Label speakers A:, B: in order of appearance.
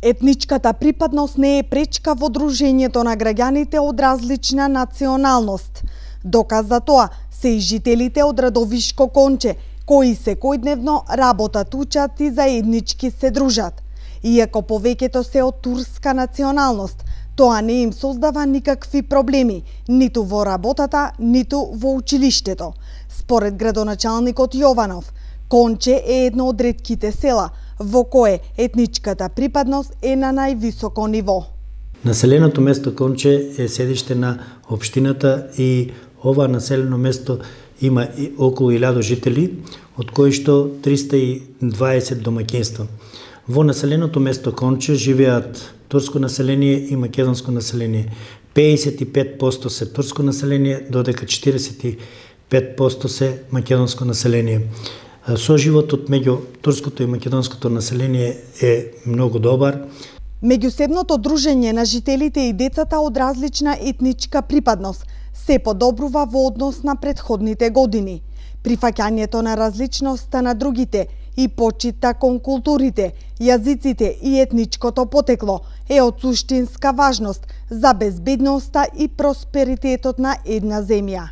A: Етничката припадност не е пречка во дружењето на граѓаните од различна националност. Доказ за тоа се и жителите од Радовишко Конче, кои секојдневно работат, учат и заеднички се дружат. Иако повеќето се од турска националност, тоа не им создава никакви проблеми, ниту во работата, ниту во училиштето. Според градоначалникот Јованов, Конче е едно од ретките села во кое етничката припадност е на највисоко ниво.
B: Населеното место Конче е седиште на општината и ова населено место има околу 1000 жители, од кои што 320 домаќинства. Во населеното место Конче живеат турско население и македонско население. 55% се турско население, додека 45% се македонско население. Соживотот меѓу турското и македонското население е многу добар.
A: Меѓусебното дружење на жителите и децата од различна етничка припадност се подобрува во однос на претходните години. Прифаќањето на различноста на другите и почита кон културите, јазиците и етничкото потекло е од суштинска важност за безбедноста и просперитетот на една земја.